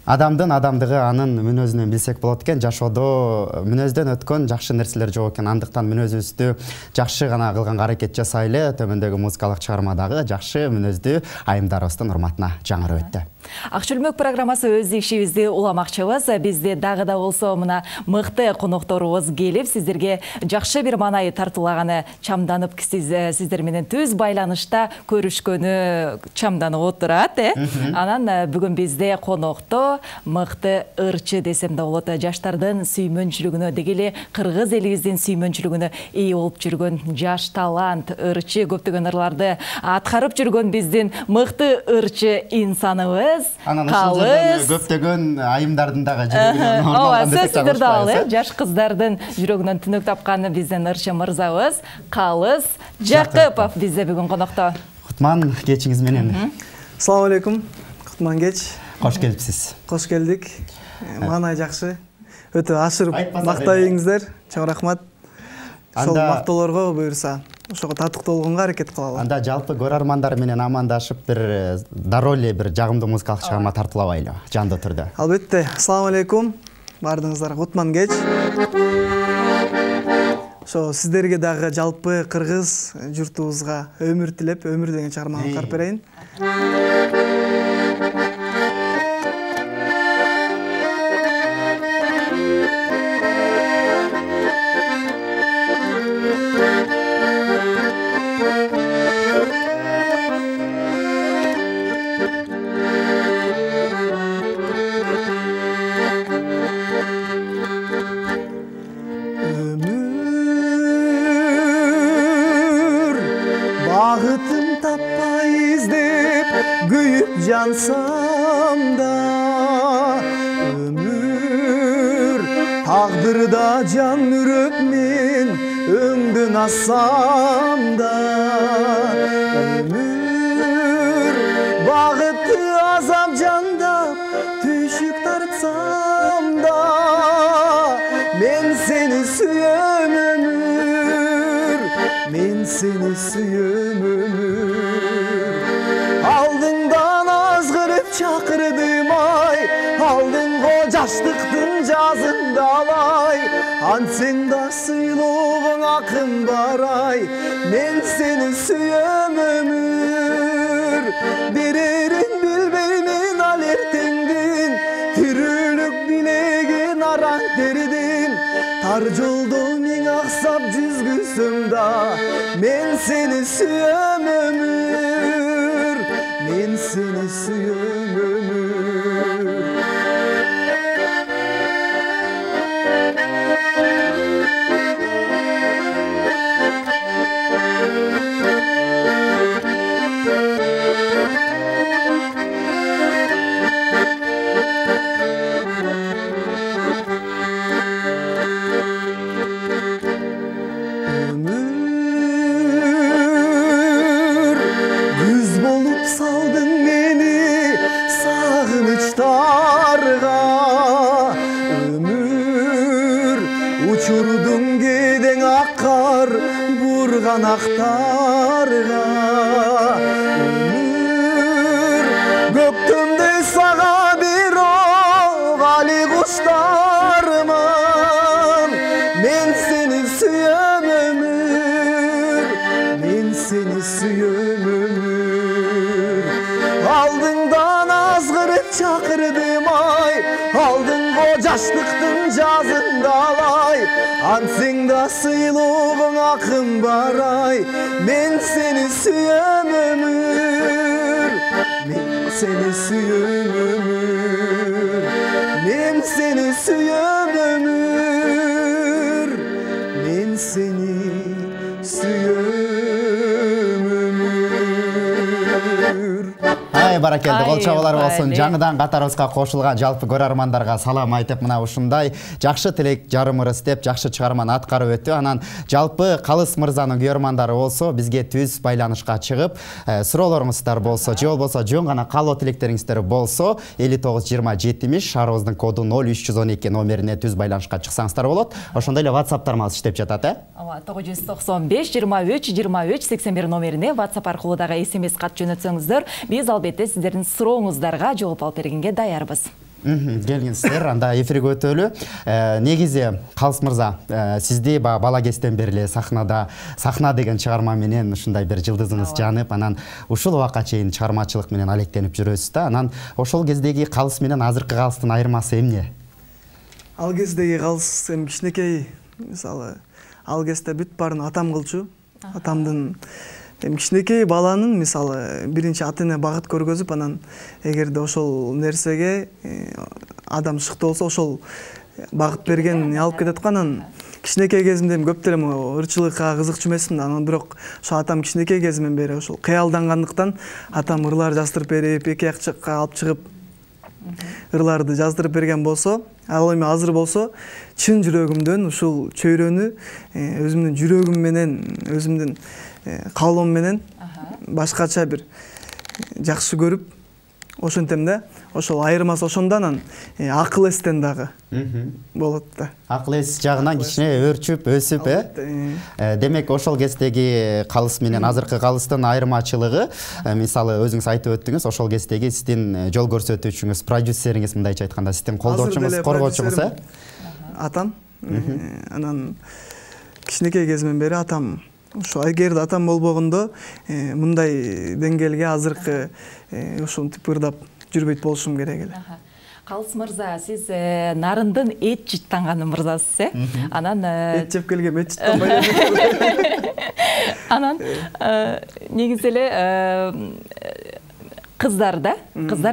Адамдын адамдыгы анын мүнөзүнөн билсек болот экен. Жашоодо мүнөздөн өткөн жакшы нерселер жок экен. Андыктан мүнөзүбүздү жакшы гана кылганга аракет жасайлы. Төмөндөгү музыкалык чыгармадагы жакшы мүнөздүү айымдарыбыздын урматына жаңырып өттү. Ак чөлмөк программасы өз ишибизди уламакчыбыз. Бизде дагы да болсо мына мыкты конокторубуз келип, сиздерге жакшы бир маанай тартуулаганы чамданып, сиздер менен түз байланышта көрүшкөнү чамданып отурат, Анан бүгүн бизде конокто мыкты ырчы десем да болот, жаштардын сүймөнчүлүгүнө, деги эле кыргыз элибиздин сүймөнчүлүгүнө ээ болуп жүргөн жаш талант, ырчы, көптөгөн ырларды аткарып жүргөн биздин мыкты ырчы инсаныбыз. Анан ушул жерден көптөгөн айымдардын дагы жүрөгүнөн орун сиздер дагы жаш кыздардын жүрөгүнөн түнөк тапкан биздин ырчы мырзабыз Калыс Жакыпов бизде бүгүн конокто. Кутман кечиңиз менен. Assalamu алейкум. Кутман кеч. Кош келипсиз. Кош келдик. Маанай жакшы. Өтө ашырып мактайыңыздар. Чоң рахмат. Ошол мактоолорго буюрса, ошого татыктуу болгонго аракет кылалы. Анда жалпы көрөрмандар менен амандашып бир дароо эле бир жагымдуу музыкалык чыгарма тартуулабайлы жандуу түрдө. Албетте. Assalamu алейкум. Баардыгыңыздарга кутман кеч. Ошо сиздерге дагы жалпы кыргыз журтубузга өмүр тилеп, өмүр деген чыгарманы карып берейин. Jansam da ömür taqdırda can ürüp men öңдөн assam da ömür bagıtı azap jandap tüşük tartsam da men seni suyum ömür men seni suyum ömür aldından azgırıp çakırdım ay aldın o jaşlıktın жазында алай ансен да сыйлығың акын бар ай мен сени сүйөм өмүр берерин билбеймин ал эртеңдин тирүүлүк билеген араң теридин тар жолдо миң аксап жүзгүсөм да мен сени сүйөм өмүр мен seni suyum ömür Kanaktarga ömür göktümde sağa bir ovali kuşlarman men seni suyum ömür men seni suyum ömür aldından azgırıp çakırdım ay aldın o jaşlıktın жазында алай ансең да сыйлығың акын бар ай мен сени сүйөм өмүр мен сени сүйөм өмүр мен сени сүйөм өмүр мен сени сүйөм өмүр Ай баракелди, кол чабуулар болсун. Жаңыдан катарыбызга кошулган жалпы көрөрмандарга салам айтып, мына ушундай жакшы тилек жарым ырыс деп жакшы чыгарманы аткарып өттү. Анан жалпы Калыс мырзанын көрөрмандары болсо, бизге түз байланышка чыгып, суроолоруңуздар болсо, же болбосо жөн гана каалоо тилектериңиздер болсо, 592070 шаарыбыздын коду 0312 номерине түз байланышка чыксаңыздар болот. Ошондой эле WhatsApp тармагы иштеп жатат, 995 23 23 81 номерине WhatsApp аркылуу дагы SMS кат жөнөтсөңүздөр, биз албетте сиздердин сурооңуздарга жооп алып бергенге даярбыз. Келиңиздер, анда эфирге өтөлү. Негизи Калыс мырза, сизди бала кезден бери эле сахна деген чыгарма менен ушундай бир жылдызыңыз жанып, анан ушул убакка чейин чыгармачылык менен алектенип жүрөсүз да. Анан ошол кездеги Калыс менен азыркы Калыстын айырмасы эмне? Ал кездеги Калыс эми кичинекей, мисалы, ал кезде бүт баарын атам кылчу. Атамдын кичинекей баланын мисалы биринчи ата эне багыт көргөзүп, анан эгерде ошол нерсеге адам шыктуу болсо ошол багыт берген алып кетет го. Анан кичинекей кезимде көп деле ырчылыкка кызыкчу эмесмин. Анан бирок ошо атам кичинекей кезимден бери ошол кыялдангандыктан атам ырлар жаздырып берип, эки ак жакка алып чыгып ырларды жаздырып берген болсо, ал эми азыр болсо чын жүрөгүмдөн ушул чөйрөнү өзүмдүн жүрөгүм менен, өзүмдүн каалоом менен башкача бир жакшы көрүп ошентем да. Ошол айырмасы ошондо. Анан акыл эстен дагы болот да. Акыл эс жагынан кичине өөрчүп, өсүп, демек ошол кездеги Калыс менен азыркы Калыстын айырмачылыгы, мисалы өзүңүз айтып өттүңүз, ошол кездеги сиздин жол көрсөтүүчүңүз, продюсериңиз, мындайча айтканда, сиздин колдоочуңуз, коргоочуңуз, атам. Анан кичинекей кезимден бери атам. Ошо эгерде атам болбогондо мындай деңгээлге азыркы ушинтип ырдап жүрбөйт болушум керек эле. Калыс мырза, сиз Нарындын эт жыттанган мырзасыз, Анан эт жеп келгем, эт жыттанбай. Анан негизи эле кыздар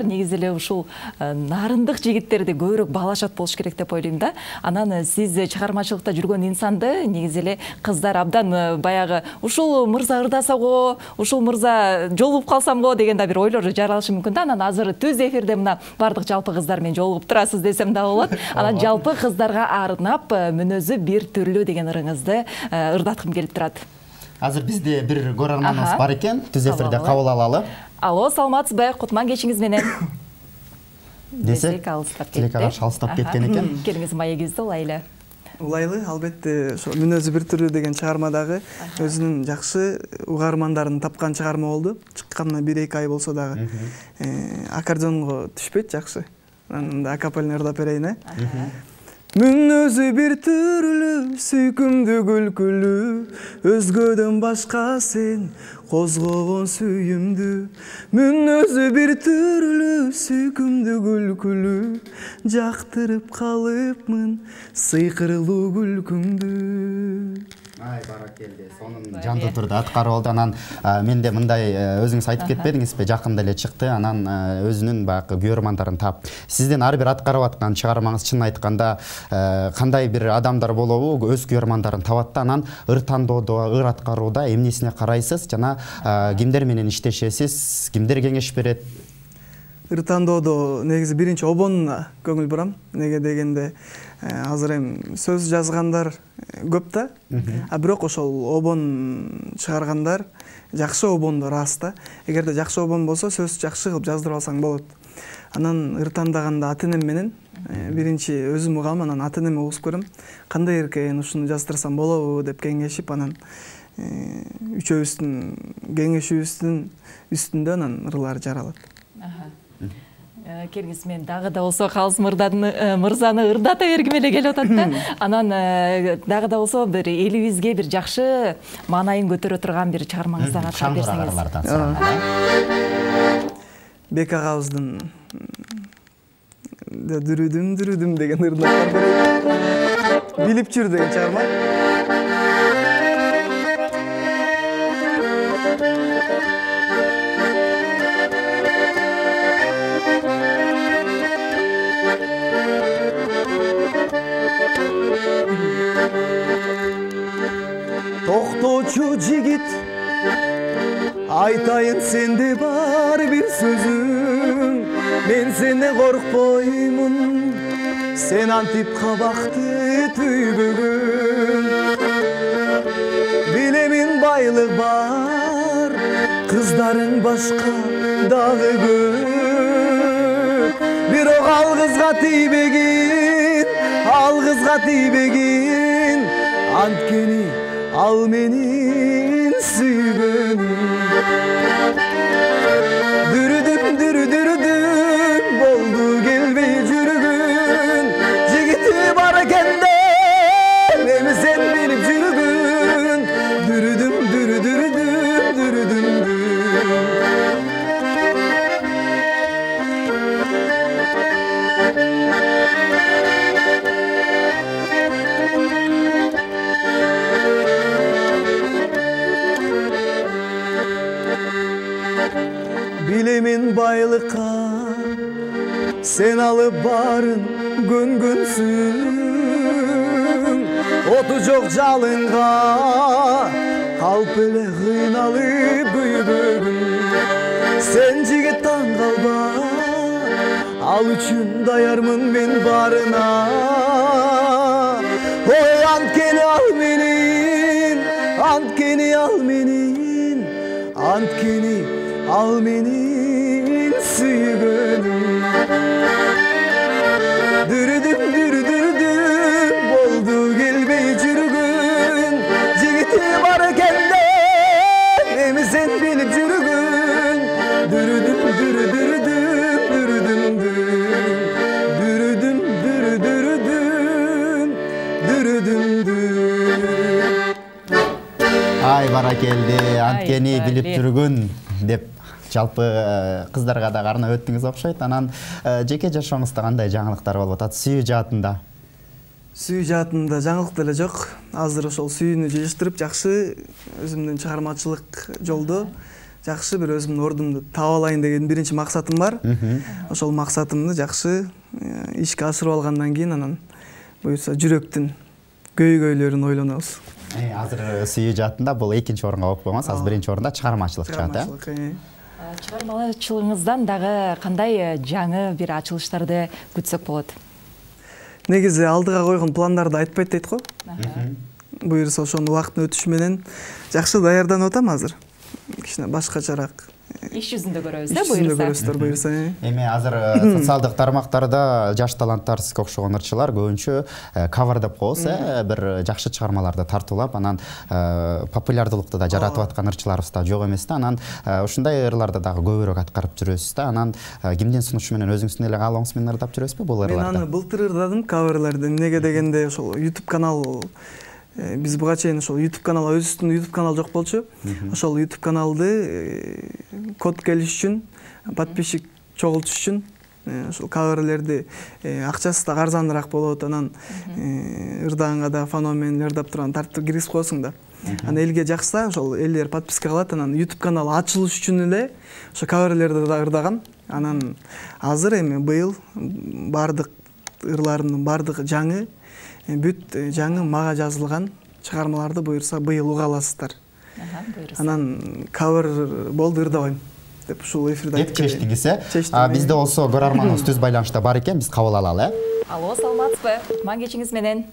негизи эле ушул нарындык жигиттерди көбүрөөк баалашат болуш керек деп ойлойм да. Анан сиз чыгармачылыкта жүргөн инсанды негизи эле кыздар абдан баягы ушул мырза ырдаса го, ушул мырза жолугуп калсам го деген да бир ойлор жаралышы мүмкүн да. Анан азыр түз эфирде мына бардык жалпы кыздар менен жолугуп турасыз десем да болот. Анан жалпы кыздарга арнап мүнөзү бир түрлүү деген ырыңызды ырдаткым келип турат. Азыр бизде бир көрөрманыбыз бар экен, түз эфирде кабыл алалы. Алло, саламатсызбы? Кутман кечиңиз менен. Десек, тилекке каршы алыстап кеткен экен. Келиңиз маегибизди улайлы. Улайлы, албетте, ошо мүнөзү бир түрлүү деген чыгармадагы өзүнүн жакшы угармандарын тапкан чыгарма болду. Чыкканына 1-2 ай болсо дагы. Аккордеонго түшпөйт, жакшы. Анан акапелла ырдап берейин, Мүнөзү бир түрлүү, сүйкүмдүү күлкүлүү, өзгөдөн башка сен козгогон сүйүмдүү. Мүнөзү бир түрлүү, сүйкүмдүү күлкүлүү, жактырып калыпмын сыйкырлуу күлкүңдү. Ай, баракелде, сонун жандуу түрдө аткарып алды. Анан менде мындай өзүңүз айтып кетпедиңизби, жакында эле чыкты. Анан өзүнүн баягы көрөрмандарын тап. Сиздин ар бир аткарып аткан чыгармаңыз чын айтканда кандай бир адамдар болобу, өз көрөрмандарын табат да. Анан ыр тандоодо, ыр аткарууда эмнесине карайсыз жана кимдер менен иштешесиз, кимдер кеңеш берет? Ыр тандоодо негизи биринчи обонуна көңүл бурам. Неге дегенде азыр эми сөз жазгандар көп да. Бирок ошол обон чыгаргандар жакшы обондор аз да. Эгерде жакшы обон болсо сөз жакшы кылып жаздырып алсаң болот. Анан ыр тандаганда ата энем менен биринчи өзүм угам, анан ата энеме угуп көрөм. Кандай эркен ушуну жаздырсам болобу деп кеңешип, анан үчөөбүздүн кеңешибиздин үстүндө анан ырлар жаралат. Келиңиз, мен дагы да болсо Калыс мырзаны ырдата бергим эле келип атат да. Анан дагы да болсо бир элибизге бир жакшы маанайын көтөрө турган бир чыгармаңыздан аткарып берсеңиз. Бек агабыздын дүрүдүм деген ырдап берейин. Билип жүр деген чыгарма. Токточу жигит, айтайын сенде бар бир сөзүм. Мен сенден коркпоймун, сен антип кабакты түйбөгүн. Билемин байлык бар, кыздарың башка дагы көп. Бирок ал кызга тийбегин, анткени ал менин сүйгөнүм. Дүрүдүм болду келбей жүр. келемен байлыкка сен алып барын көнгөнсүң оту жок жалынга калп эле кыйналып күйбөгүн сен жигит таң калба ал үчүн даярмын мен барына ой анткени ал менин анткени ал менин анткени ал менин сүйгөнүм дүрүдүм дүрүдүрдүм болду келбей жүргүн жигити бар экен деп эми сен билип жүргүн дүрүдүм дүрүдүрдүм дүрүдүм дүрүдүм дүрүдүрдүм дүрүдүм ай баракелди анткени билип жүргүн деп жалпы кыздарга да арнап өттүңүз окшойт. Анан жеке жашооңузда кандай жаңылыктар болуп атат сүйүү жаатында? Сүйүү жаатында жаңылык деле жок. Азыр ошол сүйүүнү жетиштирип жакшы өзүмдүн чыгармачылык жолдо жакшы бир өзүмдүн ордумду таап алайын деген биринчи максатым бар. Ошол максатымды жакшы ишке ашырып алгандан кийин анан буюрса жүрөктүн көйгөйлөрүн ойлонобуз. Азыр сүйүү жаатында бул экинчи орунга болуп коймос, азыр биринчи орунда чыгармачылык жаат. Чыгармачылыгыңыздан дагы кандай жаңы бир ачылыштарды күтсөк болот? Негизи алдыга койгон пландарды айтпайт дейт го. Буюрса ошону убакыттын өтүшү менен жакшы даярданып атам азыр. Кичине башкачараак иш жүзүндө көрөбүз буюрса. Эми азыр социалдык тармактарда жаш таланттар сизге окшогон ырчылар көбүнчө кавер деп коебуз, бир жакшы чыгармаларды тартуулап, анан популярдуулукту да жаратып аткан ырчыларыбыз да жок эмес да. Анан ушундай ырларды дагы көбүрөөк аткарып жүрөсүз да. Анан кимдин сунушу менен өзүңүздүн эле каалооңуз менен ырдап жүрөсүзбү бул ырларды? Мен аны былтыр ырдадым каверлерди. Эмнеге дегенде ошол YouTube канал биз буга чейин ошол YouTube канал өзүбүздүн YouTube канал жок болчу. Ошол YouTube каналды код келиш үчүн, подписчик чогултуш үчүн ошол каверлерди акчасы да арзаныраак болот. Анан ырдаганга да фономен ырдап турган тартып киргизип коесуң да. Анан элге жакса, ошол элдер подписка кылат. Анан YouTube канал ачылыш үчүн эле ошо каверлерди да ырдагам. Анан азыр эми быйыл бардык ырларымдын бардыгы жаңы, бүт жаңы мага жазылган чыгармаларды буюрса быйыл уга аласыздар. Анан кавер болду ырдабайм деп ушул эфирде айтып чечтиңиз, бизде болсо көрөрманыбыз түз байланышта бар экен, биз кабыл алалы. Алло, саламатсызбы? Кутман кечиңиз менен.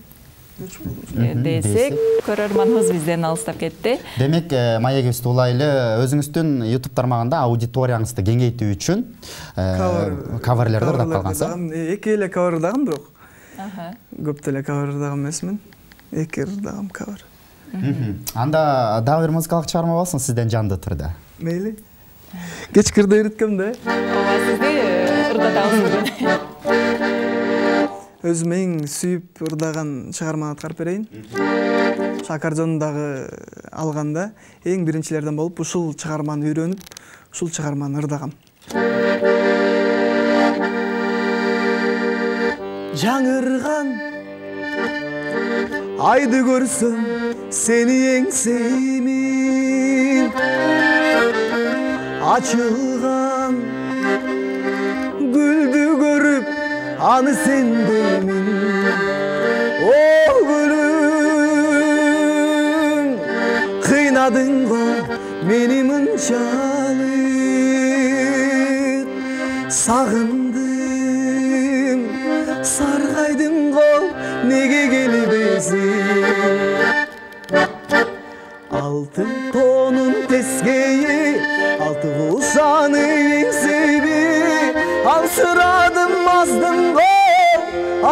Десек, көрөрманыбыз бизден алыстап кетти. Демек, маегибизди улайлы, өзүңүздүн YouTube тармагында аудиторияңызды кеңейтүү үчүн каверлерди ырдап калгансыз. Эки эле кавер ырдагам, бирок көп деле кавер ырдаган эмесмин. Эки ырдагам кавер. Анда дагы бир музыкалык чыгарма болсун сизден жанды түрдө. Мейли. Кечки ырда үйрөткөм да. Ооба, сизди ырдатабыз. Өзүм эң сүйүп ырдаган чыгарманы аткарып берейин. Аккордеонду дагы алганда эң биринчилерден болуп ушул чыгарманы үйрөнүп, ушул чыгарманы ырдагам. Жаңырган айды көрсөм сени эңсеймин, ачылган гүлдү көрүп аны сендеймин. О гүлүм, кыйнадың го мени мынчалык, сагындым, саргайдың го неге келбесиң. Алтын тонун тескейи, алты кулсаны эңсейби, аңсырадым аздым го,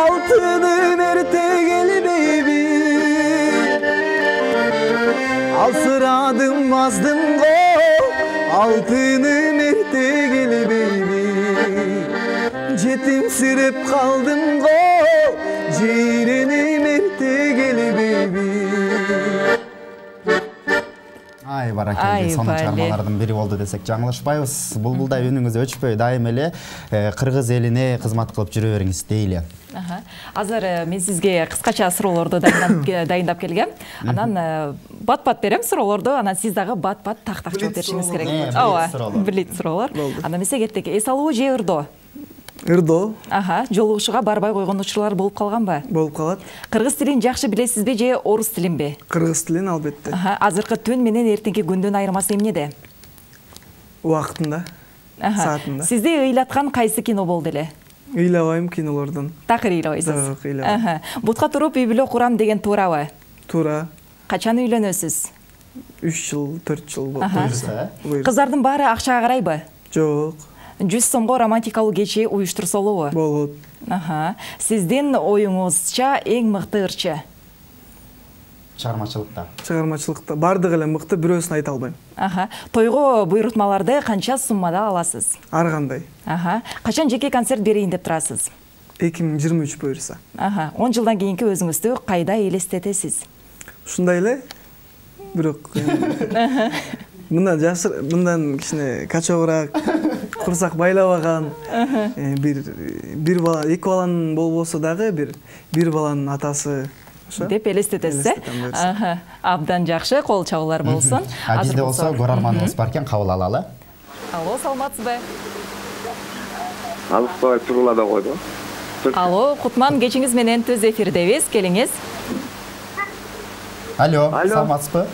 алтыным эрте келбейби. Алсырадым аздым го, алтыным эрте келбейби. Жетимсиреп калдым го, жейреним эрте келбейби. Ай баракелде, сонун чыгармалардын бири болду десек жаңылышпайбыз. Булбулдай үнүңүз өчпөй, дайым эле кыргыз элине кызмат кылып жүрө бериңиз дейли. Азыр мен сизге кыскача суроолорду дайындап келгем. Анан бат-бат берем суроолорду, анан сиз дагы бат-бат так-так жооп беришиңиз керек. Ооба, билет суроолор. Анда эмесе кеттик. Эс алуу же ырдоо? Ырдоо. Жолугушууга барбай койгон учурлар болуп калганбы? Болуп калат. Кыргыз тилин жакшы билесизби же орус тилинби? Кыргыз тилин албетте. Азыркы түн менен эртеңки күндүн айырмасы эмнеде? Убактында, саатында. Сизди ыйлаткан кайсы кино болду эле? Ыйлабайм кинолордон. Такыр ыйлабайсыз? Жок, ыйлабайм. Бутка туруп үй бүлө курам деген туурабы? Туура. Качан үйлөнөсүз? 3 жыл, 4 жыл болду. Кыздардын баары акчага карайбы? Жок. 100 сомго романтикалуу кечи уюштурса болобу? Болот. Сиздин оюңузча эң мыкты ырчы? Чыгармачылыкта бардыгы эле мыкты, бирөөсүн айта албайм. Тойго буйрутмаларды канча суммада аласыз? Ар кандай. Качан жеке концерт берейин деп турасыз? 2023 буюрса. 10 жылдан кийинки өзүңүздү кайда элестетесиз? Ушундай эле. Бирок мындан кичине качообураак, курсак байлабаган, бир бала, 2 баланын болбосо дагы бир баланын атасы деп элестетесиз, Абдан жакшы, кол чабуулар болсун. Бизде болсо көрөрманыбыз бар экен, кабыл алалы. Алло, саламатсызбы? Алыспай турулада койду. Алло, Кутман, кечиңиз менен түз эфирдебиз, келиңиз. Алло, саламатсызбы?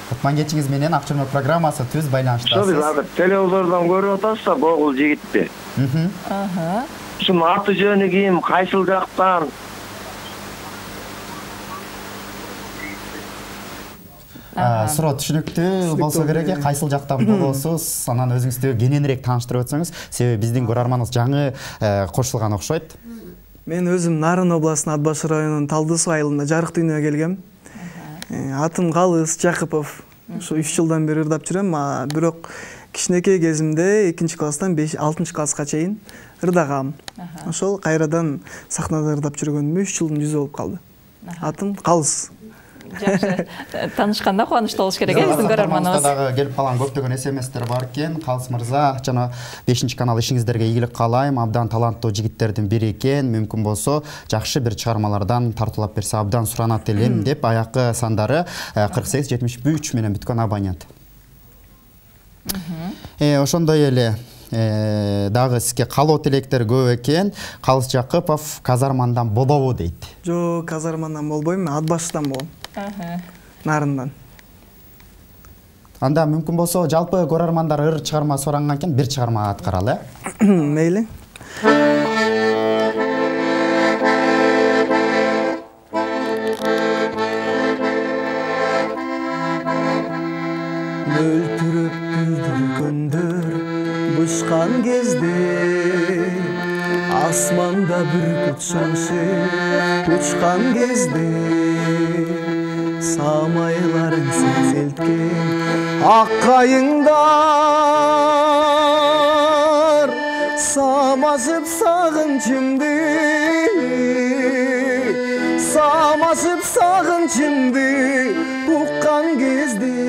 Кутман, кечиңиз менен Ак Чөмөк программасы түз байланыштасыз. Биз азыр телевизордон көрүп атабыз да, богул жигитти. Ушунун аты жөнү ким, кайсыл жактан? Суроо түшүнүктүү болсо керек, кайсыл жактан болосуз, анан өзүңүздү кененирээк тааныштырып өтсөңүз, себеби биздин көрөрманыбыз жаңы кошулган окшойт. Мен өзүм Нарын областынын Ат Баш районунун Талды Суу айылында жарык дүйнөгө келгем. Атым Калыс Жакыпов. Ушу 3 жылдан бери ырдап жүрөм, бирок кичинекей кезимде 2-класстан 6 класска чейин ырдагам. Ошол кайрадан сахнада ырдап жүргөнүмө 3 жылдын жүзү болуп калды. Атым Калыс. Жакшы. Таанышканда кубанычтуу болуш керек, биздин көрөрманыбыз. Дагы келип калган көптөгөн СМСтер бар экен. Калыс мырза, жана 5-канал ишиңиздерге ийгилик каалайм. Абдан таланттуу жигиттердин бири экен. Мүмкүн болсо, жакшы бир чыгармалардан тартуулап берсе абдан суранат элем деп, аякы сандары 4873 менен бүткөн абонент. Ошондой эле дагы сизге каалоо тилектер көп экен. Калыс Жакыпов казармандан болобу дейт. Жок, казармандан болбойм, Ат Баштан болом. Нарындан. Анда мүмкүн болсо, жалпы көрөрмандар ыр чыгарма суранган экен, бир чыгарма аткаралы. Мейли. Мөлтүрөп күлдүргөндөр бышкан кезде, асманда бүркүт шаңшып учкан кезде, самайларың сезелткен ак кайыңдар самашып сагынчымды, уккан кезде,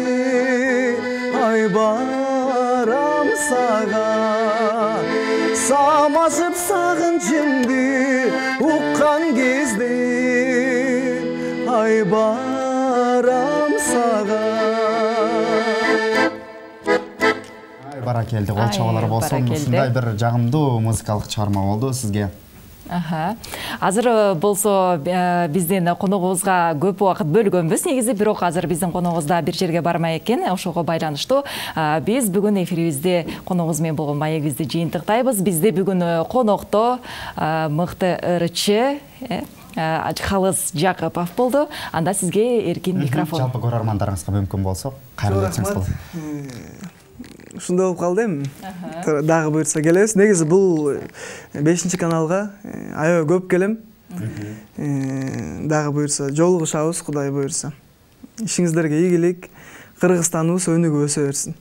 ай барам сага, самашып сагынчымды, уккан кезде, ай барам сага. Баракелди, кол чабуулар болсун. Ушундай бир жагымдуу музыкалык чыгарма болду сизге. Азыр болсо биздин коногубузга көп убакыт бөлгөнбүз негизи, бирок азыр биздин коногубуз да бир жерге бармай экен. Ошого байланыштуу биз бүгүн эфирибизде коногубуз менен болгон маегибизди жыйынтыктайбыз. Бизде бүгүн конокто мыкты ырчы Калыс Жакыпов болду. Анда сизге эркин микрофон. Жалпы көрөрмандарыңызга мүмкүн болсо кайрылып өтсөңүз болот. Ушундай болуп калды эми. Дагы буйрса келебиз. Негизи бул 5-каналга аябай көп келем. Дагы буйрса жолугушабыз, Кудай буйрса. Ишиңиздерге ийгилик, Кыргызстаныбыз өнүгүп өсө берсин.